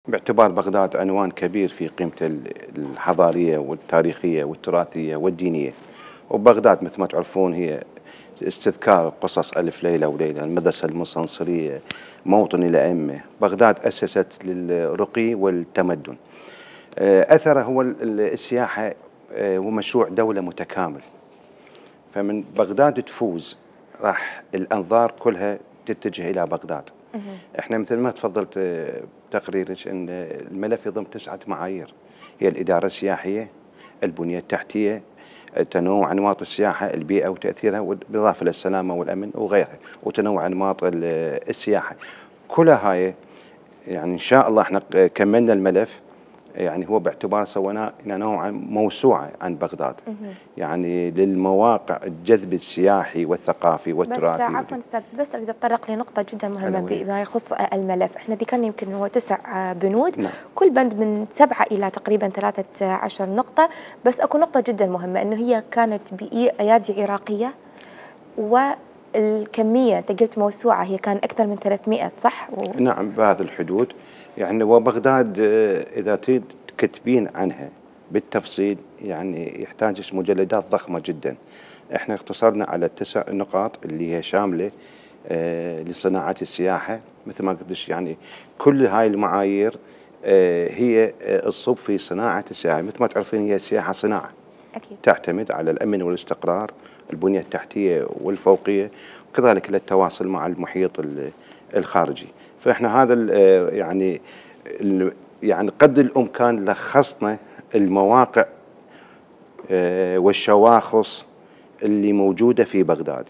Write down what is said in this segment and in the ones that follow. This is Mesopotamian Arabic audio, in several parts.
باعتبار بغداد عنوان كبير في قيمته الحضارية والتاريخية والتراثية والدينية. وبغداد مثل ما تعرفون هي استذكار قصص ألف ليلة وليلة، المدرسة المستنصرية، موطن الأئمة. بغداد أسست للرقي والتمدن. أثره هو السياحة ومشروع دولة متكامل. فمن بغداد تفوز راح الأنظار كلها تتجه إلى بغداد. احنا مثل ما تفضلت بتقريرك ان الملف يضم 9 معايير، هي الإدارة السياحية، البنية التحتية، تنوع أنماط السياحة، البيئة وتأثيرها، بالإضافة للسلامة والأمن وغيرها، وتنوع أنماط السياحة. كلها هاي يعني إن شاء الله احنا كملنا الملف، يعني هو باعتبار سويناه نوعا موسوعة عن بغداد، يعني للمواقع الجذب السياحي والثقافي والتراثي. بس عفوا استاذ، بس اريد اتطرق لنقطة جدا مهمة بما يخص الملف. احنا ذكرنا يمكن هو 9 بنود. نعم. كل بند من 7 إلى تقريبا 13 نقطة، بس اكو نقطة جدا مهمة انه هي كانت بأيادي عراقية، والكمية انت قلت موسوعة، هي كان اكثر من 300 صح؟ نعم بهذه الحدود. يعني وبغداد إذا تريد تكتبين عنها بالتفصيل يعني يحتاج مجلدات ضخمة جدا. احنا اختصرنا على 9 نقاط اللي هي شاملة لصناعة السياحة. مثل ما قلت يعني كل هاي المعايير هي الصب في صناعة السياحة. مثل ما تعرفين هي السياحة صناعة أكيد. تعتمد على الأمن والاستقرار، البنية التحتية والفوقية، وكذلك للتواصل مع المحيط الخارجي. فإحنا هذا يعني قدر الإمكان لخصنا المواقع والشواخص اللي موجودة في بغداد.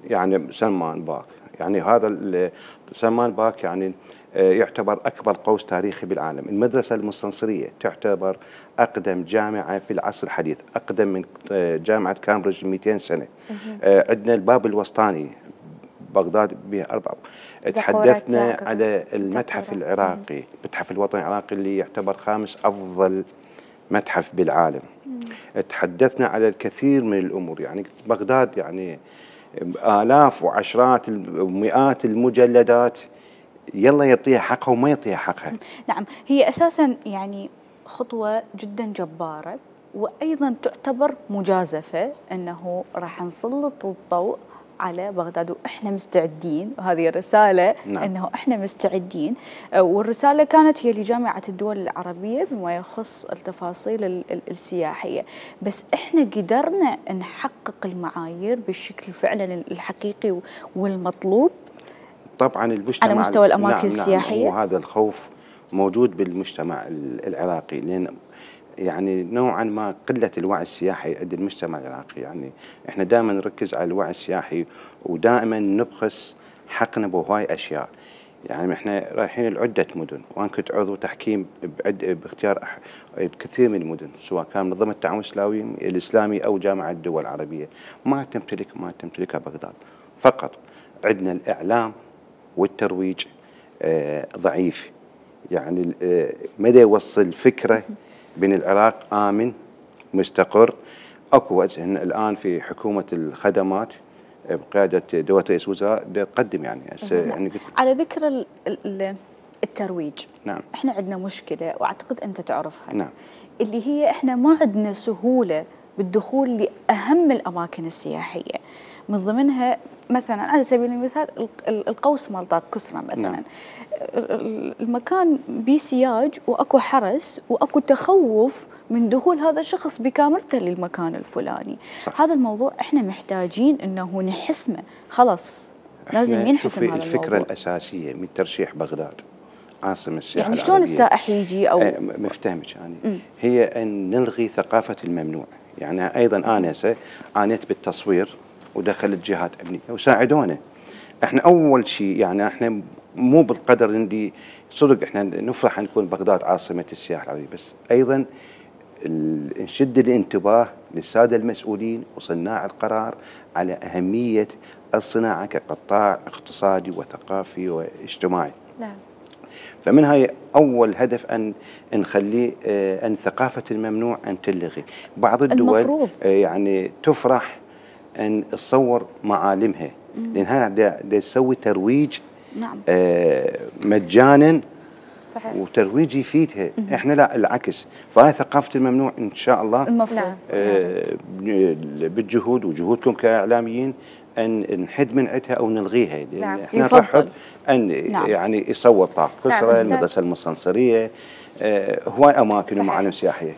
يعني سلمان باك، يعني هذا سلمان باك يعني يعتبر أكبر قوس تاريخي بالعالم. المدرسة المستنصرية تعتبر أقدم جامعة في العصر الحديث، أقدم من جامعة كامبريدج 200 سنة. عندنا الباب الوسطاني، بغداد بها 4. تحدثنا على المتحف العراقي، المتحف الوطني العراقي اللي يعتبر 5 أفضل متحف بالعالم. تحدثنا على الكثير من الأمور. يعني بغداد يعني آلاف وعشرات ومئات المجلدات، يلا يعطيها حقها وما يعطيها حقها. نعم، هي أساسا يعني خطوة جدا جبارة، وأيضا تعتبر مجازفة أنه راح نسلط الضوء على بغداد وإحنا مستعدين، وهذه رسالة. نعم. أنه إحنا مستعدين، والرسالة كانت هي لجامعة الدول العربية بما يخص التفاصيل السياحية. بس إحنا قدرنا نحقق المعايير بالشكل فعلا الحقيقي والمطلوب طبعا المجتمع على مستوى الأماكن السياحية. وهذا الخوف موجود بالمجتمع العراقي، لأن يعني نوعا ما قلة الوعي السياحي عند المجتمع العراقي. يعني احنا دائما نركز على الوعي السياحي ودائما نبخس حقنا بهواي اشياء. يعني احنا رايحين لعدة مدن، وانا كنت عضو تحكيم باختيار كثير من المدن، سواء كان منظمة التعاون الإسلامي او جامعة الدول العربية. ما تمتلكها بغداد. فقط عندنا الإعلام والترويج ضعيف. يعني مدى يوصل فكرة بين العراق آمن مستقر. اكو وجه الان في حكومة الخدمات بقيادة دولة رئيس الوزراء تقدم يعني على ذكر الترويج. نعم. احنا عندنا مشكلة واعتقد انت تعرفها. نعم. اللي هي احنا ما عندنا سهولة بالدخول لأهم الأماكن السياحية، من ضمنها مثلا على سبيل المثال القوس مال طاق كسرى مثلا. نعم. المكان بسياج واكو حرس واكو تخوف من دخول هذا الشخص بكاميرته للمكان الفلاني. صح. هذا الموضوع احنا محتاجين انه نحسمه، خلاص لازم ينحسم هذا الموضوع. الفكرة الأساسية من ترشيح بغداد عاصمة السياحة يعني شلون السائح يجي او مفتهمك يعني هي ان نلغي ثقافة الممنوع. يعني ايضا انا عانيت بالتصوير ودخلت جهات امنيه وساعدونا. احنا اول شيء يعني احنا مو بالقدر اللي صدق احنا نفرح ان نكون بغداد عاصمه السياحه العربيه، بس ايضا نشد الانتباه للساده المسؤولين وصناع القرار على اهميه الصناعه كقطاع اقتصادي وثقافي واجتماعي. نعم. فمن هاي اول هدف ان نخلي ان ثقافه الممنوع ان تلغي. بعض الدول يعني تفرح ان تصور معالمها، لان هذا تسوي ترويج. نعم. مجانا صحيح. وترويج يفيدها. احنا لا، العكس. فهاي ثقافه الممنوع ان شاء الله المفروض بالجهود وجهودكم كاعلاميين ان نحد من عندها او نلغيها، لان احنا يفضل نرحب ان يعني يصور طاق كسرى، المدرسه المستنصريه، هواي اماكن ومعالم سياحيه.